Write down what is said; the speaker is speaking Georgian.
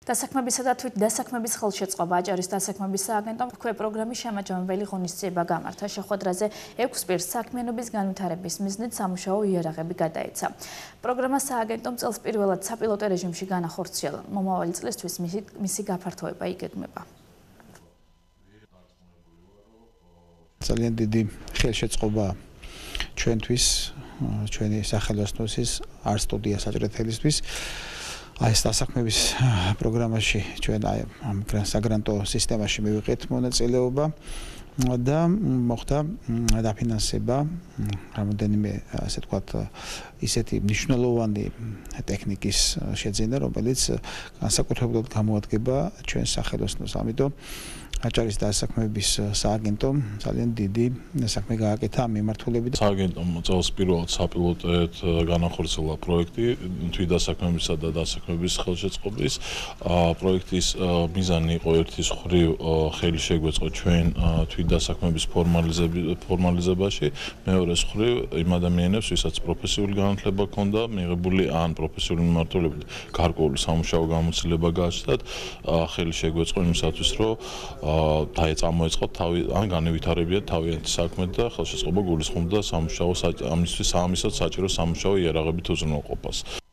დასაქმებისა და თვითდასაქმების ხელშეწყობა აჭარის დასაქმების სააგენტომ თქვენ პროგრამის შემაჯამებელი ღონისძიება გამართა. შეხვედრაზე 6 პირს საქმიანობის განვითარების მიზნით სამუშაო იარაღები გადაეცა. პროგრამა სააგენტომ წელს პირველად საპილოტო რეჟიმში განახორციელა. მომავალი წლისთვის მისი გაფართოება იგეგმება. ძალიან დიდი ხელშეწყობა ჩვენთვის, ჩვენი სახელოსნოსის არ სტუდია საჭიროთელისთვის. ეს დასაქმების პროგრამაში ჩვენ ამ საგრანტო სისტემაში მივიღეთ მონაწილეობა და მოხდა დაფინანსება რამოდენიმე ასე ვთქვათ ისეთი მნიშვნელოვანი ტექნიკის შეძენა, რომელიც განსაკუთრებულად გამოადგება ჩვენს სახელოსნოს. ამიტომ აჭარის დასაქმების სააგენტომ ძალიან დიდი საქმე გააკეთა ამ მიმართულებით. სააგენტომ წელს პირველად საპილოტოდ განახორციელა პროექტი თვითდასაქმებისა და დასაქმების ხელშეწყობის. პროექტის მიზანი იყო ერთის მხრივ ხელი შეგვეწყო ჩვენ თვითდასაქმების ფორმალიზებაში, მეორეს მხრივ იმ ადამიანებს, ვისაც პროფესიული განათლება ჰქონდა, მიღებული ან პროფესიული მიმართულებით გარკვეული სამუშაო გამოცდილება გააჩნდათ, ხელი შეგვეწყო იმისათვის, რომ წამოეწყოთ ან განევითარებიათ თავიანთი საქმე და ხელშეწყობა გულისხმობდა ამისთვის საჭირო სამუშაო იარაღებით უზრუნველყოფას.